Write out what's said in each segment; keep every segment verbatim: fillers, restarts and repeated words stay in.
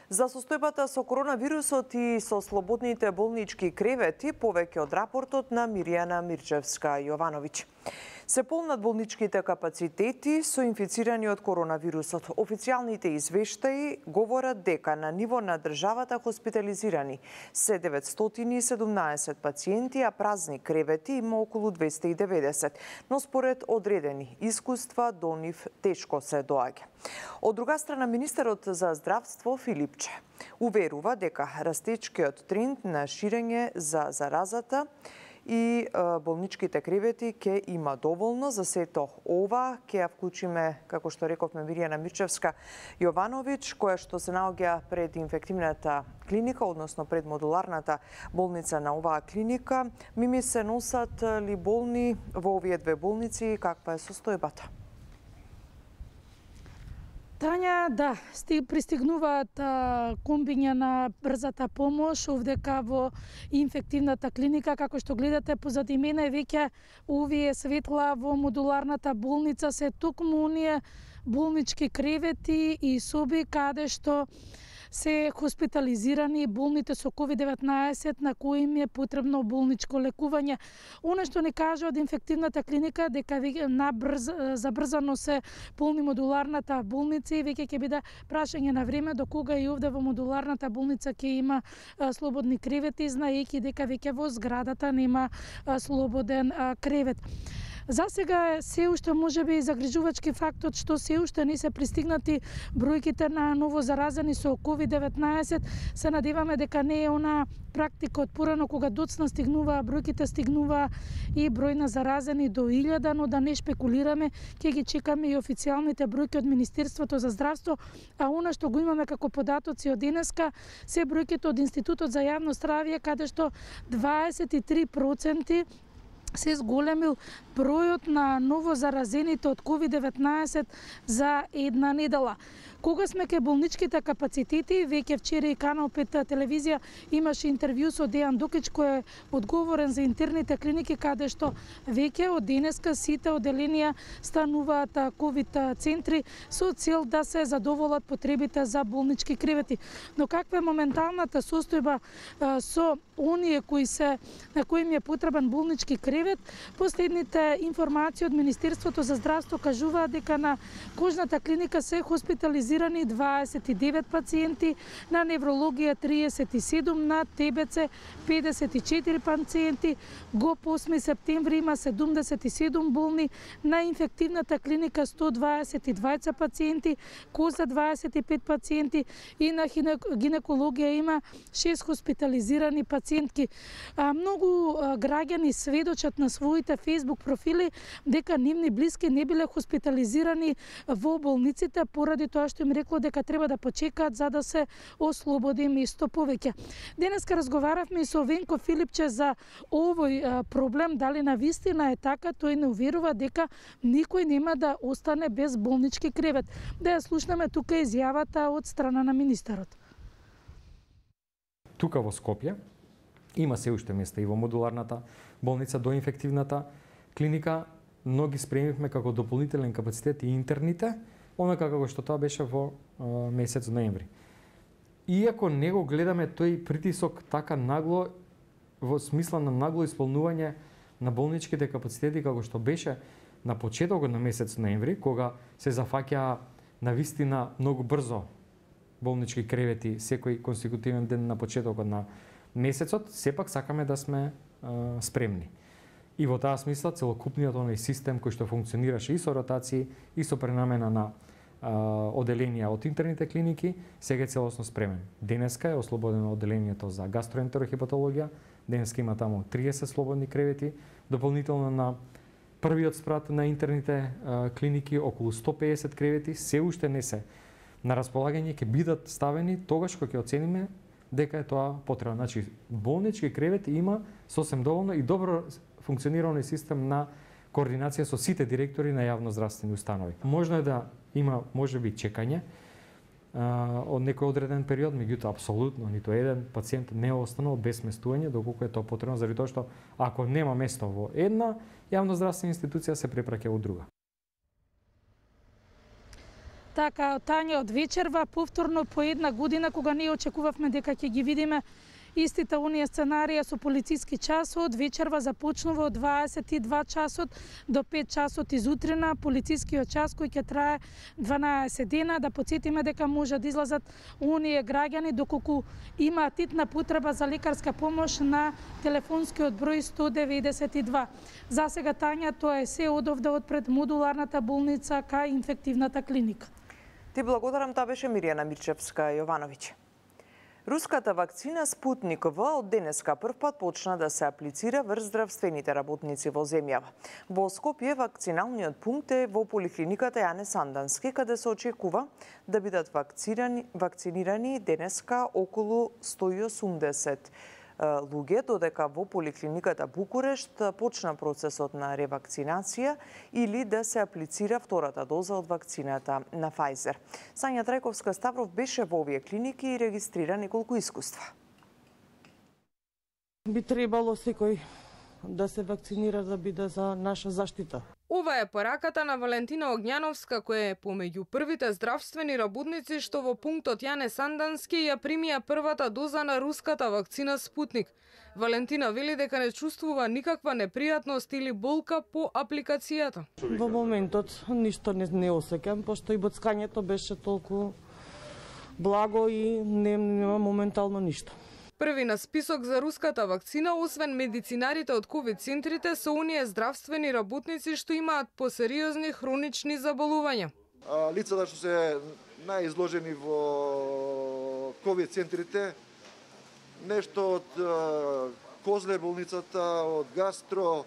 За состојбата со коронавирусот и со слободните болнички кревети, повеќе од рапортот на Мирјана Мирчевска-Јовановиќ. Се полнат болничките капацитети со инфицирани од коронавирусот. Официјалните извештаи говорат дека на ниво на државата хоспитализирани се деветстотини и седумнаесет пациенти, а празни кревети има околу двесте и деветдесет, но според одредени искуства до нив тешко се доаѓа. Од друга страна, министерот за здравство Филипче уверува дека растечкиот тренд на ширење за заразата и болничките кревети ќе има доволно. За сето ова ќе ја вклучиме, како што рековме, Мирјана Мирчевска-Јовановиќ, која што се наоѓа пред инфективната клиника, односно пред модуларната болница на оваа клиника. Мими, се носат ли болни во овие две болници и каква е состојбата? Тања, да, пристигнуваат комбиња на брзата помош овдека во инфективната клиника. Како што гледате позади мене, веќе овие светла во модуларната болница се токму оние болнички кревети и соби каде што се хоспитализирани болните со ковид деветнаесет на кои им е потребно болничко лекување. Оно што не кажа од инфективната клиника дека набрз, забрзано се полни модуларната болница и веќе ќе биде прашање на време до кога и овде во модуларната болница ќе има а, слободни кревети, знаејќи дека веќе во зградата нема а, слободен а, кревет. За сега е се уште можеби загрижувачки фактот што се уште не се пристигнати бројките на ново заразени со ковид деветнаесет. Се надеваме дека не е она практика од порано кога доцна стигнува, бројките стигнува и број на заразени до илјада, но да не шпекулираме, ќе ги чекаме и официјалните бројки од Министерството за здравство, а она што го имаме како податоци од денеска се бројките од Институтот за јавно здравје, каде што дваесет и три проценти се зголемил бројот на ново заразените од ковид деветнаесет за една недела. Кога сме ке болничките капацитети, веќе вчера и Канал пет телевизија имаше интервју со Дејан Дукич, кој е одговорен за интерните клиники, каде што веќе од денеска сите оделенија стануваат ковид центри со цел да се задоволат потребите за болнички кревети. Но каква е моменталната состојба со оние кои се на кои им е потребен болнички кревет? Последните информации од Министерството за здравство кажуваат дека на кожната клиника се хоспитализирани дваесет и девет пациенти, на неврологија триесет и седум, на ТБЦ педесет и четири пациенти, ГОП осми септември има седумдесет и седум болни, на инфективната клиника сто дваесет и двајца пациенти, КОЗа дваесет и пет пациенти и на гинекологија има шест хоспитализирани пациентки. А, многу а, граѓани сведочат на своите фейсбук профили дека нивни блиски не биле хоспитализирани во болниците поради тоа што им рекло дека треба да почекаат за да се ослободи место повеќе. Денеска разговаравме и со Венко Филипче за овој а, проблем, дали на вистина е така. Тој не уверува дека никој нема да остане без болнички кревет. Да ја слушнеме тука изјавата од страна на министерот. Тука во Скопје има се уште места и во модуларната болница до инфективната клиника, но ги спремивме како дополнителен капацитет и интерните, онака како што тоа беше во а, месец ноември. Иако не го гледаме тој притисок така нагло, во смисла на нагло исполнување на болничките капацитети како што беше на почетокот на месец ноември, кога се зафаќаа на вистина многу брзо болнички кревети секој конститутивен ден на почетокот на месецот, сепак сакаме да сме а, спремни. И во таа смисла целокупниот оној систем кој што функционираше и со ротации и со пренамена на а, оделенија од интерните клиники, сега е целосно спремен. Денеска е ослободено оделението за гастроентерохепатологија, денеска има таму триесет слободни кревети, дополнително на првиот спрат на интерните а, клиники околу сто педесет кревети се уште не се на располагање, ќе бидат ставени тогаш кога ќе оцениме дека е тоа потребно. Значи, болнички кревети има сосем доволно и добро функционира оној систем на координација со сите директори на јавноздравствени установи. Можно е да има можеби чекање а, од некој одреден период, меѓутоа апсолутно ниту еден пациент не е останал без сместување доколку е тоа потребно, заради тоа што ако нема место во една јавноздравствена институција се препраќа во друга. Така, Тања од вечерва, повторно по една година, кога ние очекувавме дека ќе ги видиме истите оние сценарија со полициски часот, вечерва започнува од дваесет и два часот до пет часот изутрина, полицискиот час кој ќе трае дванаесет дена. Да потсетиме дека може да излазат оние граѓани доколку имаат итна потреба за лекарска помош на телефонскиот број сто деветдесет и два. За сега, Тања, тоа е се одовде од пред модуларната болница кај инфективната клиника. Ти благодарам, тоа беше Мирјана Мирчевска-Јовановиќ. Руската вакцина Спутник В од денеска првпат почна да се аплицира врз здравствените работници во земјава. Во Скопје вакциналниот пункт е во поликлиниката Јане Сандански, каде се очекува да бидат вакцинирани денеска околу сто и осумдесет луѓе, додека во поликлиниката Букурешт почна процесот на ревакцинација или да се аплицира втората доза од вакцината на Pfizer. Сања Трајковска-Ставров беше во овие клиники и регистрира неколку искуства. Би требало секој да се вакцинира да биде за наша заштита. Ова е пораката на Валентина Огњановска, која е помеѓу првите здравствени работници што во пунктот Јане Сандански ја примија првата доза на руската вакцина Спутник. Валентина вели дека не чувствува никаква непријатност или болка по апликацијата. Во моментот ништо не, не осеќам, пошто и боцкањето беше толку благо и не, нема моментално ништо. Први на список за руската вакцина, освен медицинарите од ковид центрите, се оние здравствени работници што имаат посериозни хронични заболувања. Лицата што се најизложени во ковид центрите, нешто од Козле болницата, од гастро,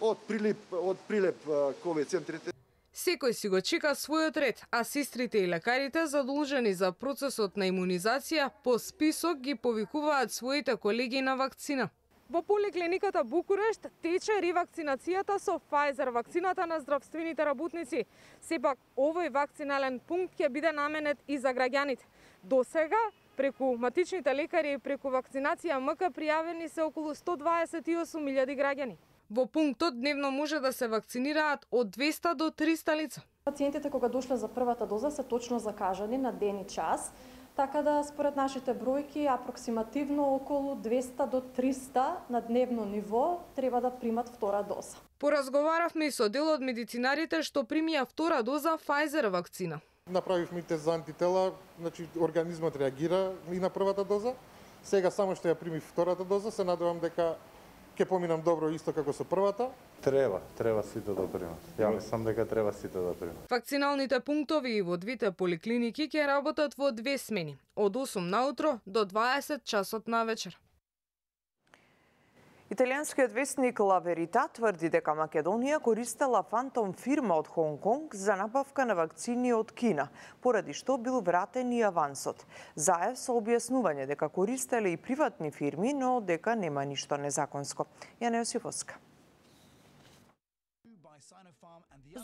од прилип, од прилеп ковид центрите. Секој си го чека својот ред, а сестрите и лекарите задолжени за процесот на имунизација по список ги повикуваат своите колеги на вакцина. Во поликлиниката Букурешт тече ревакцинацијата со Pfizer вакцината на здравствените работници. Сепак овој вакцинален пункт ќе биде наменет и за граѓаните. До сега преку матичните лекари и преку вакцинација МК пријавени се околу сто дваесет и осум илјади граѓани. Во пунктот дневно може да се вакцинираат од двеста до триста лица. Пациентите кога дошле за првата доза се точно закажани на ден и час, така да според нашите бројки апроксимативно околу двеста до триста на дневно ниво треба да примат втора доза. Поразговаравме и со дел од медицинарите што примија втора доза Pfizer вакцина. Направивме тест за антитела, значи организмот реагира и на првата доза. Сега само што ја примив втората доза, се надевам дека ќе поминам добро исто како со првата. Треба, треба сите да примат. Ја мислам дека треба сите да примат. Вакциналните пунктови и во двете поликлиники ќе работат во две смени, од осум наутро до дваесет часот на вечер. Италијанскиот весник La Verità тврди дека Македонија користела фантом фирма од Хонг Конг за набавка на вакцини од Кина, поради што бил вратен и авансот. Заев со објаснување дека користеле и приватни фирми, но дека нема ништо незаконско. Јана Јосифовска.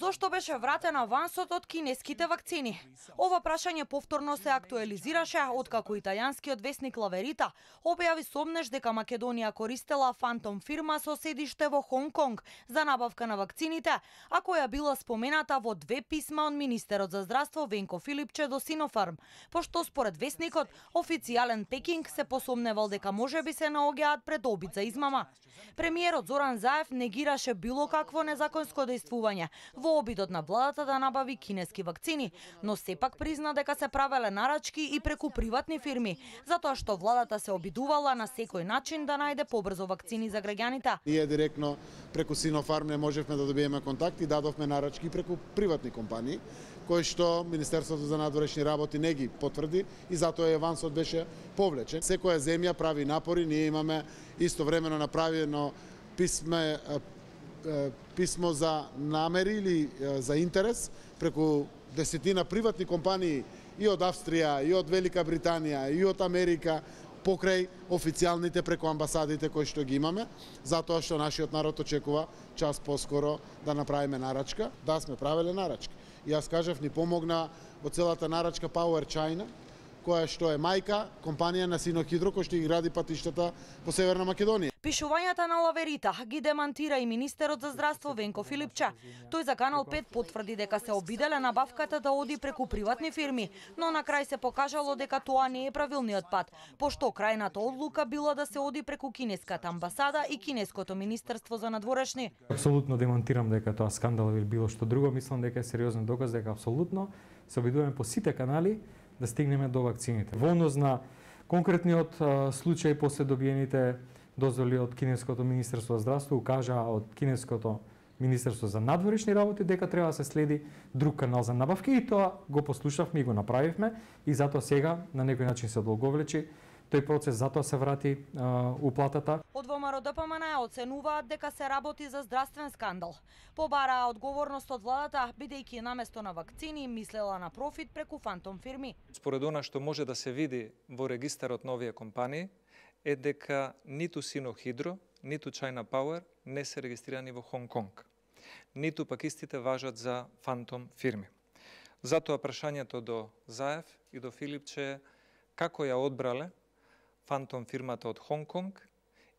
Зошто беше вратен авансот од кинеските вакцини? Ова прашање повторно се актуализираше откако италијанскиот весник La Verità објави сомнеш дека Македонија користела фантом фирма со седиште во Хонг Конг за набавка на вакцините, а која била спомената во две писма од министерот за здравство Венко Филипче до Синофарм, пошто според весникот официјален Пекинг се посомневал дека можеби се наоѓаат пред обид за измама. Премиерот Зоран Заев негираше било какво незаконско дејствување во обидот на владата да набави кинески вакцини, но сепак призна дека се правеле нарачки и преку приватни фирми, затоа што владата се обидувала на секој начин да најде побрзо вакцини за граѓаните. Ние директно преку Синофарм не можевме да добиеме контакт и дадовме нарачки преку приватни компании, кои што Министерството за надворешни работи не ги потврди и затоа и авансот беше повлечен. Секоја земја прави напори, ние имаме истовремено направено писме писмо за намери или за интерес преку десетина приватни компании и од Австрија, и од Велика Британија, и од Америка, покрај официјалните преку амбасадите кои што ги имаме, затоа што нашиот народ очекува час поскоро да направиме нарачка. Да, сме правеле нарачки. И јас кажав, ни помогна во целата нарачка Power China, која што е мајка компанија на Синохидро кој што ги гради патиштата по Северна Македонија. Пишувањата на Лаверита ги демантира и министерот за здравство Венко Филипче. Тој за Канал пет потврди дека се обиделе набавката да оди преку приватни фирми, но на крај се покажало дека тоа не е правилниот пат, пошто крајната одлука била да се оди преку кинеската амбасада и кинеското министерство за надворешни. Апсолутно демонтирам дека тоа скандал или било што друго, мислам дека е сериозен доказ дека апсолутно се обидуваме по сите канали да стигнеме до вакцините. Во однос на конкретниот случај после добиените дозволи од кинеското министерство за здравство, укажа од кинеското министерство за надворешни работи дека треба да се следи друг канал за набавки и тоа го послушавме и го направивме и затоа сега на некој начин се одолговлечи тој процес, затоа се врати а, уплатата. Од ВМРО-ДПМН оценуваат дека се работи за здравствен скандал. Побараа одговорност од владата, бидејќи наместо на вакцини мислела на профит преку фантом фирми. Според она што може да се види во регистарот на овие компании, е дека ниту Синохидро, ниту China Power не се регистрирани во Хонг Конг. Ниту пак истите важат за фантом фирми. Затоа прашањето до Заев и до Филипче е како ја одбрале фантом фирмата од Хонг Конг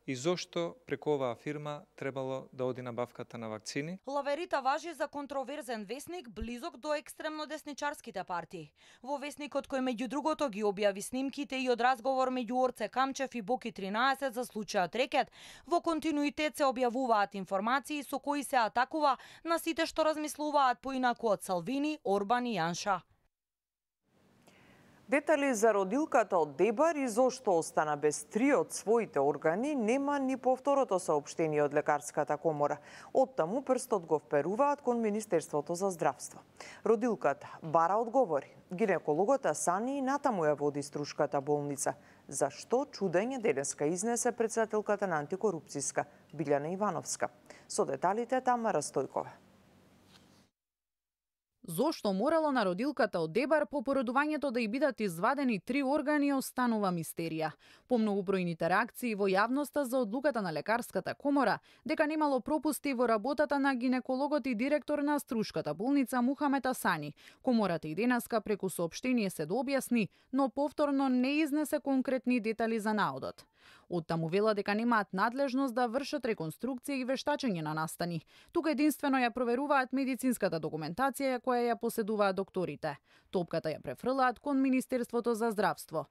и зошто преку оваа фирма требало да оди набавката на вакцини. Лаверита важи за контроверзен весник близок до екстремно десничарските партии. Во весникот кој меѓу другото ги објави снимките и од разговор меѓу Орце Камчев и Боки тринаесет за случајот Рекет, во континуитет се објавуваат информации со кои се атакува на сите што размислуваат поинаку од Салвини, Орбан и Јанша. Детали за родилката од Дебар и зошто остана без три од своите органи нема ни по второто соопштение од Лекарската комора. Оттаму прстот го вперуваат кон Министерството за здравство. Родилката бара одговори. Гинекологот Асани и натаму ја води Струшката болница. Зашто чудење денеска изнесе председателката на антикорупцијска Билјана Ивановска. Со деталите Тамара Стојкова. Зошто морало на родилката од Дебар по породувањето да и бидат извадени три органи останува мистерија. По многобројните реакции во јавноста за одлуката на Лекарската комора дека немало пропусти во работата на гинекологот и директор на Струшката болница Мухамед Асани, комората и денеска преку соопштение се дообјасни, но повторно не изнесе конкретни детали за наодот. Оттаму вела дека немаат надлежност да вршат реконструкција и вештачење на настани. Тука единствено ја проверуваат медицинската документација која ја поседуваат докторите. Топката ја префрлаат кон Министерството за здравство.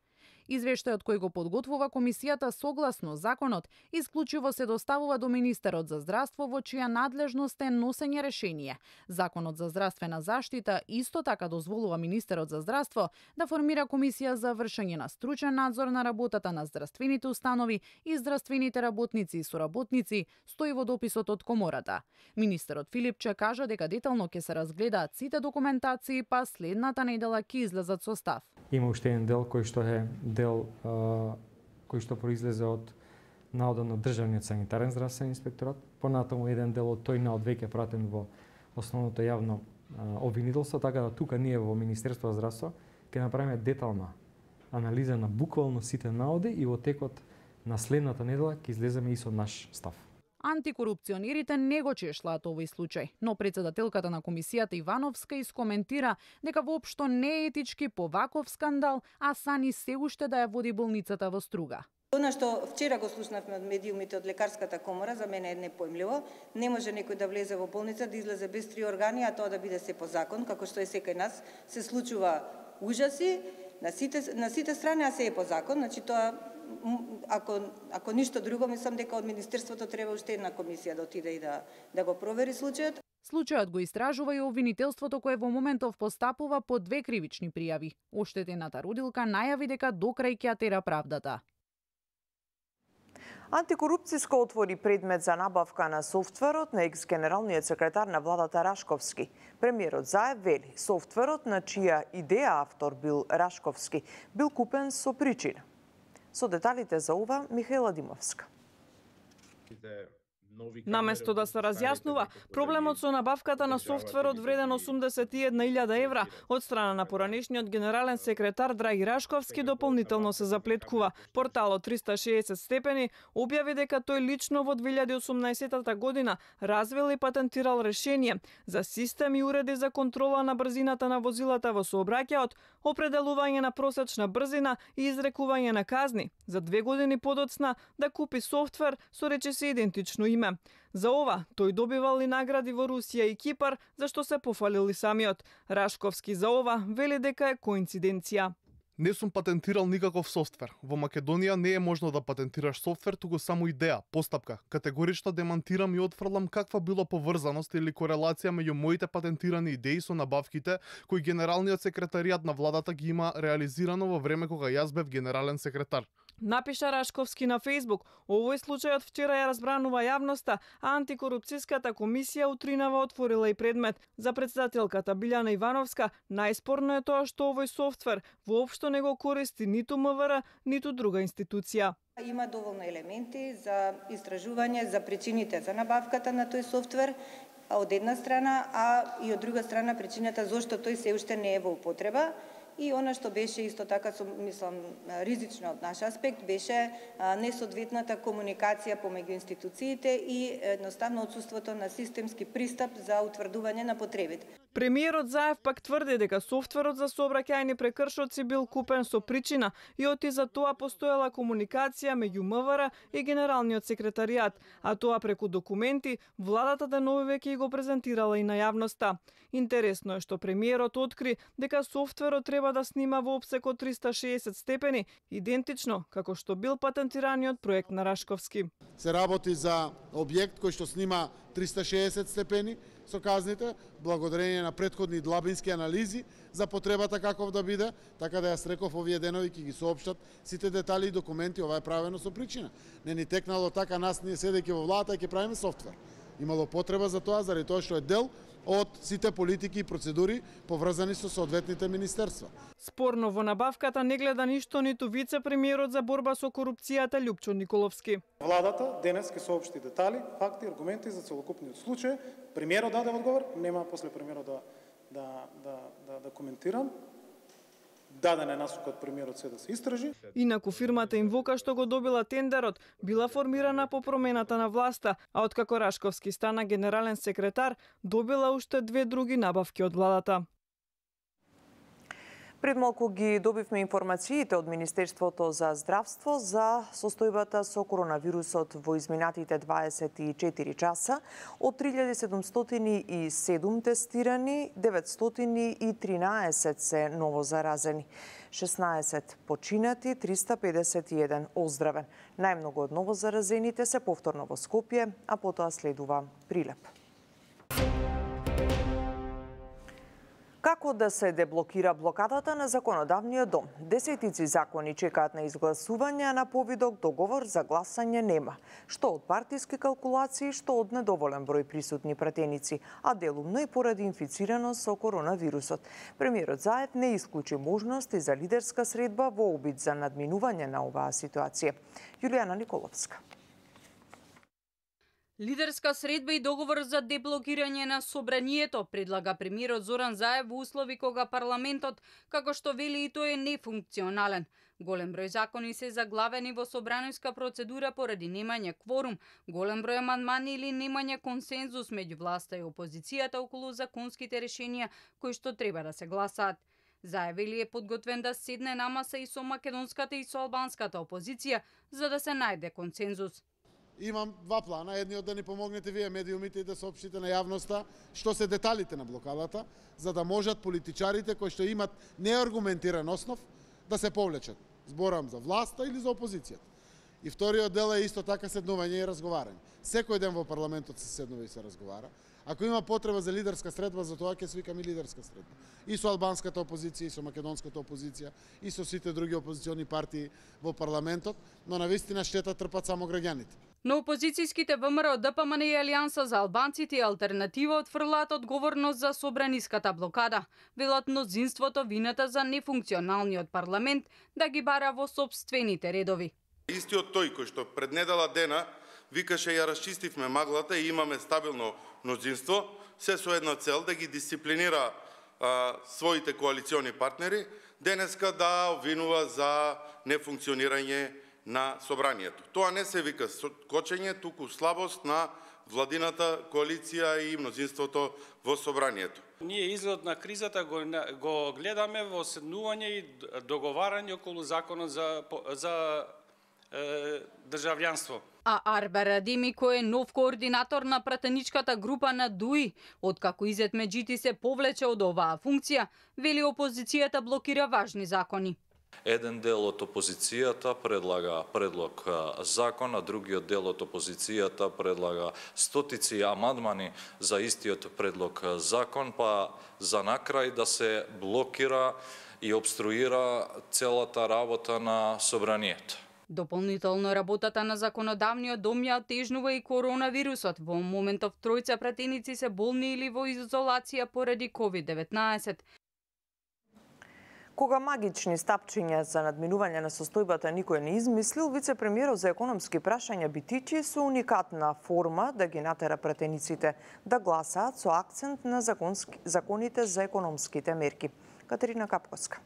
Извештајот кој го подготвува комисијата согласно законот исклучиво се доставува до министерот за здравство во чија надлежност е носење решение. Законот за здравствена заштита исто така дозволува министерот за здравство да формира комисија за вршење на стручен надзор на работата на здравствените установи и здравствените работници и соработници, стои во дописот од комората. Министерот Филипче кажа дека детално ќе се разгледаат сите документации, па следната недела ќе излезат со став. Има уште еден дел кој што е дел а, кој што произлезе од наодот на Државниот санитарен здравствен инспекторат. Понатаму еден дел од тој наод веќе пратен во основното јавно а, обвинителство, така да тука ние во Министерство за здравство ќе направиме детална анализа на буквално сите наоди и во текот на следната недела ќе излеземе и со наш став. Антикорупционерите не го чешлаат овој случај, но председателката на комисијата Ивановска искоментира дека воопшто не е етички по ваков скандал, а Сани се уште да ја води болницата во Струга. Она што вчера го слушнавме од медиумите од Лекарската комора, за мене е непојмливо. Не може некој да влезе во болница, да излезе без три органи, а тоа да биде се по закон, како што е секај нас. Се случува ужаси на сите, на сите страни, а се е по закон. Значи тоа Ако, ако ништо друго, мислам дека од Министерството треба уште една комисија да отиде и да, да го провери случајот. Случајот го истражува и обвинителството кое во моментов постапува по две кривични пријави. Оштетената родилка најави дека до крај ќе тера правдата. Антикорупцијско отвори предмет за набавка на софтверот на екс-генералниот секретар на владата Рашковски. Премиерот Заев вели, софтверот на чија идеја автор бил Рашковски бил купен со причина. Со деталите за ова Михаела Димовска. Наместо да се разјаснува проблемот со набавката на софтверот вреден осумдесет и една илјада евра од страна на поранешниот генерален секретар Драги Рашковски, дополнително се заплеткува. Порталот триста и шеесет степени објави дека тој лично во две илјади и осумнаесетта година развил и патентирал решение за систем и уреди за контрола на брзината на возилата во сообраќајот, определување на просечна брзина и изрекување на казни. За две години подоцна да купи софтвер со речиси идентично име. За ова тој добивал и награди во Русија и Кипар, за што се пофалил и самиот. Рашковски за ова вели дека е коинциденција. Не сум патентирал никаков софтвер. Во Македонија не е можно да патентираш софтвер, туку само идеја, постапка. Категорично демантирам и отфрлам каква било поврзаност или корелација меѓу моите патентирани идеи со набавките кои генералниот секретаријат на владата ги има реализирано во време кога јас бев генерален секретар. Напиша Рашковски на Фејсбук. Овој случајот вчера ја разбранува јавноста, а антикорупцијската комисија утринава отворила и предмет. За претседателката Билјана Ивановска, најспорно е тоа што овој софтвер воопшто не го користи ниту М В Р, ниту друга институција. Има доволно елементи за истражување за причините за набавката на тој софтвер, од една страна, а и од друга страна причината зошто тој се уште не е во употреба. И она што беше исто така, мислам, ризично од наш аспект, беше несоодветната комуникација помеѓу институциите и едноставно отсуството на системски пристап за утврдување на потребите. Премиерот Заев пак тврди дека софтверот за сообраќајни прекршоци бил купен со причина и оти за тоа постоела комуникација меѓу М В Р и генералниот секретаријат, а тоа преку документи владата денови веќе го презентирала и на јавноста. Интересно е што премиерот откри дека софтверот треба да снима во опсек од триста и шеесет степени, идентично како што бил патентираниот проект на Рашковски. Се работи за објект кој што снима триста и шеесет степени со казните, благодарение на претходни длабински анализи за потребата каков да биде, така да јас реков овие денови ќе ги соопштат сите детали и документи, ова е правено со причина. Не ни текнало така нас ние седејќи во владата ќе правиме софтвер. Имало потреба за тоа заради тоа што е дел од сите политики и процедури поврзани со соодветните министерства. Спорно во набавката не гледа ништо ниту вице-премиерот за борба со корупцијата Љупчо Николовски. Владата денес ќе соопшти детали, факти, аргументи за целокупниот случај. Премиерот даде одговор, нема после премиерот да да да да, да коментирам. Даден е насокот премиерот се да се истражи. Инаку фирмата Инвока што го добила тендерот била формирана по промената на власта, а откако Рашковски стана генерален секретар, добила уште две други набавки од владата. Пред малку ги добивме информациите од Министерството за здравство за состојбата со коронавирусот во изминатите дваесет и четири часа. Од три илјади седумстотини и седум тестирани, деветстотини и тринаесет се новозаразени. шеснаесет починати, триста педесет и еден оздравен. Најмногу од новозаразените се повторно во Скопје, а потоа следува Прилеп. Како да се деблокира блокадата на законодавниот дом? Десетици закони чекаат на изгласување, а на повидок договор за гласање нема. Што од партиски калкулации, што од недоволен број присутни пратеници, а делумно и поради инфицираност со коронавирусот. Премиерот Заев не исклучи можности за лидерска средба во обид за надминување на оваа ситуација. Јулијана Николовска. Лидерска средба и договор за деблокирање на собранието предлага премиерот Зоран Заев во услови кога парламентот, како што вели и тој, е нефункционален. Голем број закони се заглавени во собраниска процедура поради немање кворум, голем број амандмани или немање консензус меѓу власта и опозицијата околу законските решенија кои што треба да се гласаат. Заев вели е подготвен да седне на маса и со македонската и со албанската опозиција за да се најде консензус. Имам два плана. Едниот да ни помогнете вие медиумите и да соопштите на јавноста што се деталите на блокадата, за да можат политичарите кои што имат неаргументиран основ да се повлечат. Зборам за власта или за опозицијата. И вториот дел е исто така седнување и разговарање. Секој ден во парламентот се седнува и се разговара. Ако има потреба за лидерска средба, за тоа ќе свикаме лидерска средба. И со албанската опозиција, и со македонската опозиција, и со сите други опозициони партии во парламентот, но навистина штета трпат само граѓаните. Но опозицијските ВМРО, ДПМН и Алијанса за албанците и Алтернатива отфрлаат одговорност за собраниската блокада. Велат мнозинството вината за нефункционалниот парламент да ги бара во сопствените редови. Истиот тој кој што пред недела дена викаше ја расчистивме маглата и имаме стабилно мнозинство, се со една цел да ги дисциплинира а, своите коалициони партнери, денеска да обвинува за нефункционирање на собранието. Тоа не се вика кочење, туку слабост на владината коалиција и мнозинството во собранието. Ние изглед на кризата го, го гледаме во седнување и договарање околу законот за, за е, државјанство. А Арбер Адеми, кој е нов координатор на пратеничката група на ДУИ, откако Изет Меджити се повлече од оваа функција, вели опозицијата блокира важни закони. Еден дел од опозицијата предлага предлог закон, а другиот дел од опозицијата предлага стотици амандмани за истиот предлог закон, па за накрај да се блокира и обструира целата работа на собранието. Дополнително работата на законодавниот дом ја отежнува и коронавирусот. Во моментов тројца пратеници се болни или во изолација поради ковид деветнаесет. Кога магични стапчиња за надминување на состојбата никој не измислил, вице-премиерот за економски прашања Битичи со уникатна форма да ги натера пратениците да гласаат со акцент на законски, законите за економските мерки. Катерина Капковска.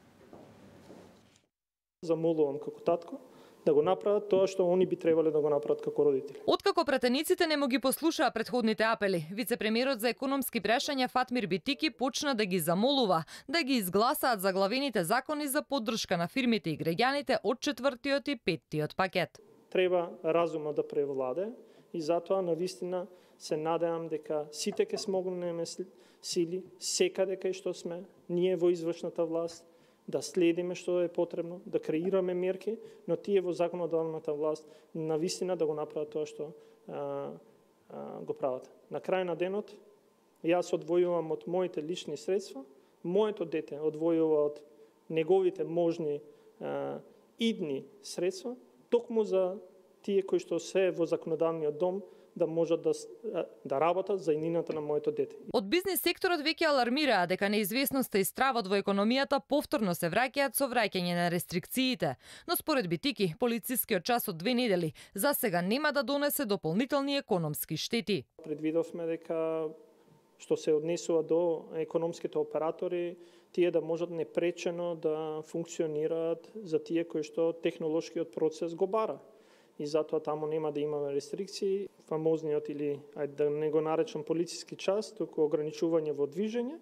Замолувам како татко да го направат тоа што они би требале да го направат како родители. Откако пратениците не му ги послушаа претходните апели, вице-премиерот за економски прашања Фатмир Битики почна да ги замолува да ги изгласаат заглавените закони за поддршка на фирмите и граѓаните од четвртиот и петтиот пакет. Треба разума да превладе и затоа навистина се надевам дека сите ќе смогнеме сили секаде кај што сме, ние во извршната власт, да следиме што е потребно, да креираме мерки, но тие во законодавната власт навистина да го направат тоа што а, а, го прават. На крај на денот, јас одвојувам од моите лични средства, моето дете одвојува од неговите можни а, идни средства, токму за тие кои што се во законодавниот дом да можат да, да работат за иднината на моето дете. Од бизнес секторот веќе алармираа дека неизвестноста и стравот во економијата повторно се враќаат со враќање на рестрикциите, но според Битики, полицискиот час од две недели за сега нема да донесе дополнителни економски штети. Предвидовме дека што се однесува до економските оператори, тие да можат непречено да функционираат за тие кои што технолошкиот процес го бара. И затоа таму нема да имаме рестрикции, фамозниот или, ајде да не го наречам полициски час, туку ограничување во движење.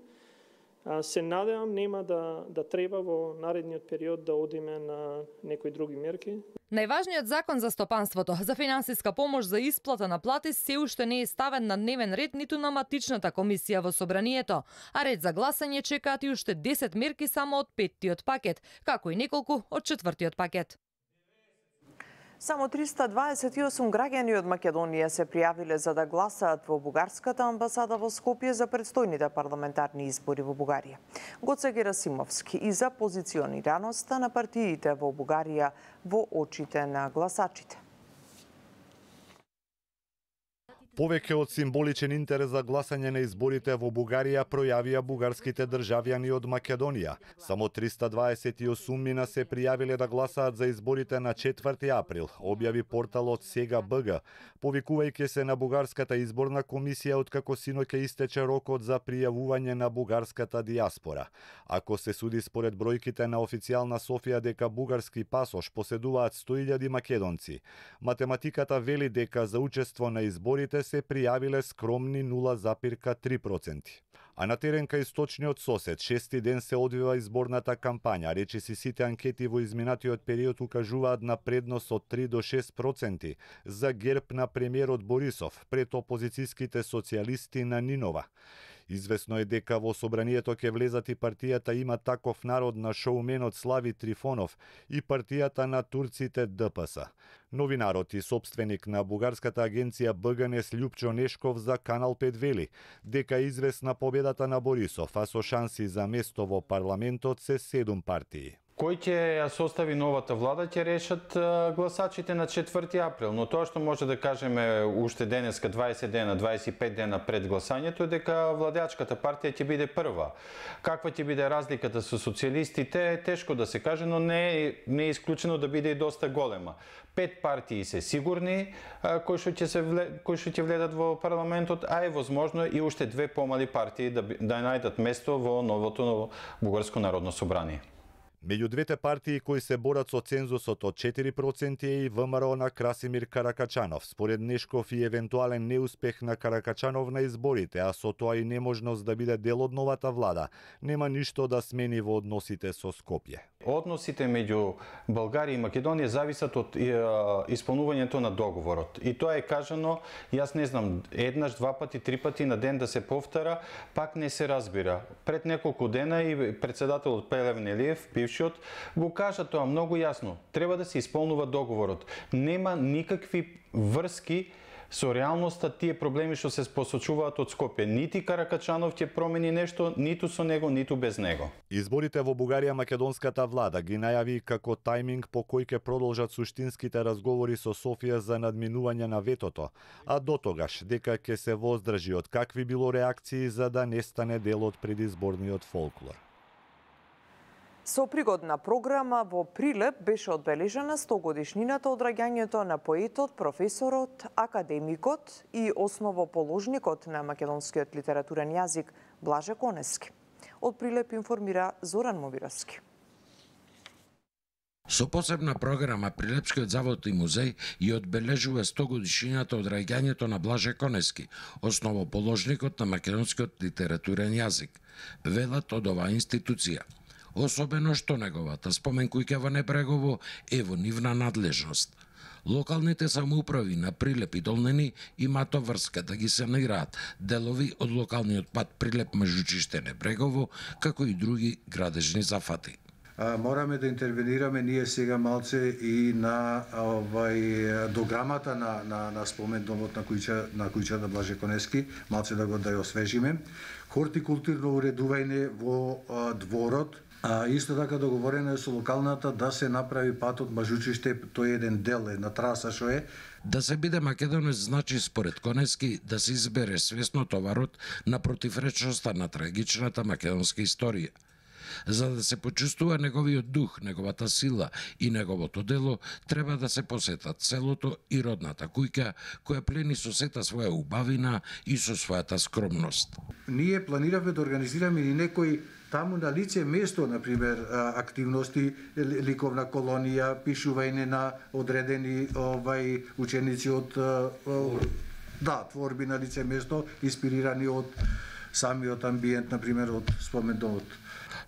Се надевам нема да, да треба во наредниот период да одиме на некои други мерки. Најважниот закон за стопанството, за финансиска помош за исплата на плати се уште не е ставен на дневен ред ниту на матичната комисија во собранието, а ред за гласање чекаат и уште десет мерки само од петтиот пакет, како и неколку од четвртиот пакет. Само триста дваесет и осум граѓани од Македонија се пријавиле за да гласаат во бугарската амбасада во Скопје за предстојните парламентарни избори во Бугарија. Гоце Герасимовски и за позиционираноста на партиите во Бугарија во очите на гласачите. Повеќе од символичен интерес за гласање на изборите во Бугарија пројавија бугарските државјани од Македонија. Само триста дваесет и осум мина се пријавиле да гласаат за изборите на четврти април, објави порталот Сега БГ, повикувајќи се на бугарската изборна комисија откако синоќа истече рокот за пријавување на бугарската дијаспора. Ако се суди според бројките на официјална Софија дека бугарски пасош поседуваат сто илјади македонци, математиката вели дека за учество на изборите се пријавиле скромни нула запирка три проценти. А на терен кај источниот сосед, шести ден се одвива изборната кампања, речиси сите анкети во изминатиот период укажуваат на предност од три до шест проценти за ГЕРБ на премиерот Борисов пред опозицијските социјалисти на Нинова. Известно е дека во собранието ќе влезат и партијата Има таков народ на шоуменот Слави Трифонов и партијата на турците Д П С. Новинарот и собственик на бугарската агенција Б Г Н С Љупчо Нешков за Канал пет вели дека е известна победата на Борисов, а со шанси за место во парламентот се седум партии. кој ќе ја состави новата влада ќе решат гласачите на четврти април, но тоа што може да кажеме уште денеска дваесет дена, дваесет и пет дена пред гласањето е дека владеачката партија ќе биде прва. Каква ќе биде разликата со социјалистите е тешко да се каже, но не е, не е исклучено да биде и доста голема. Пет партии се сигурни кои што ќе се вле, кои што ќе вледат во парламентот, а е возможно и уште две помали партии да да најдат место во новото Бугарско народно собрание. Меѓу двете партии кои се борат со цензусот од четири проценти е и ВМРО на Красимир Каракачанов. Според Нешков и евентуален неуспех на Каракачанов на изборите, а со тоа и неможност да биде дел од новата влада, нема ништо да смени во односите со Скопје. Односите меѓу Българија и Македонија зависат од исполнувањето на договорот. И тоа е кажано, јас не знам, еднаш, два пати, три пати на ден да се повтара, пак не се разбира. Пред неколку дена и председателот Плевнелиев, бившиот, го кажа тоа многу јасно. Треба да се исполнува договорот. Нема никакви врски со реалноста тие проблеми што се посочуваат од Скопје. Нити Каракачанов ќе промени нешто, ниту со него, ниту без него. Изборите во Бугарија македонската влада ги најави како тајминг по кој ќе продолжат суштинските разговори со Софија за надминување на ветото, а до тогаш дека ќе се воздржи од какви било реакции за да не стане дел од предизборниот фолклор. Со пригодна програма во Прилеп беше одбележена стогодишнината од раѓањето на поетот, професорот, академикот и основоположникот на македонскиот литературен јазик Блаже Конески. Од Прилеп информира Зоран Мовировски. Со посебна програма Прилепскиот завод и музеј ја одбележува стогодишнината од раѓањето на Блаже Конески, основоположникот на македонскиот литературен јазик, велат од оваа институција. Особено што неговата споменкујќа во Небрегово е во нивна надлежност. Локалните самоуправи на Прилеп и Долнени имаат врска да ги санираат делови од локалниот пат Прилеп Мажучиште Небрегово, како и други градежни зафати. А, мораме да интервенираме ние сега малце и на овај дограмата на на на спомендомот на куќа на куќа на Блаже Конески, малце да го да ја освежиме. Хортикултурно уредување во а, дворот. А исто така договорено е со локалната да се направи патот Мажучиште, тој е еден дел, една траса што е. Да се биде македонец значи според Конески да се избере свесно товарот на противречноста на трагичната македонска историја. За да се почувствува неговиот дух, неговата сила и неговото дело, треба да се посетат селото и родната куќа, која плени со сета своја убавина и со својата скромност. Ние планираме да организираме и некои таму на лице место, например, активности, ликовна колонија, пишување на одредени овај ученици од да, творби на лице место, инспирирани од самиот амбиент, например, од спомендомот.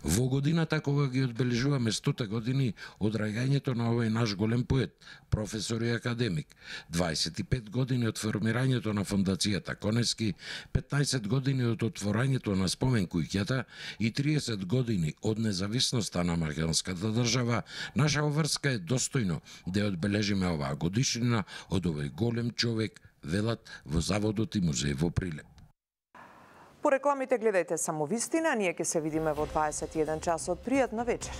Во годината кога ги одбележуваме стоте години од раѓањето на овој наш голем поет, професор и академик, дваесет и пет години од формирањето на фондацијата Конески, петнаесет години од отворањето на споменкуќата и триесет години од независноста на македонската држава, наша врска е достојно да ја одбележиме оваа годишнина од овој голем човек, велат во заводот и музеј во Прилеп. По рекламите гледајте само вистина, ние ќе се видиме во дваесет и еден часот. Пријатна вечер.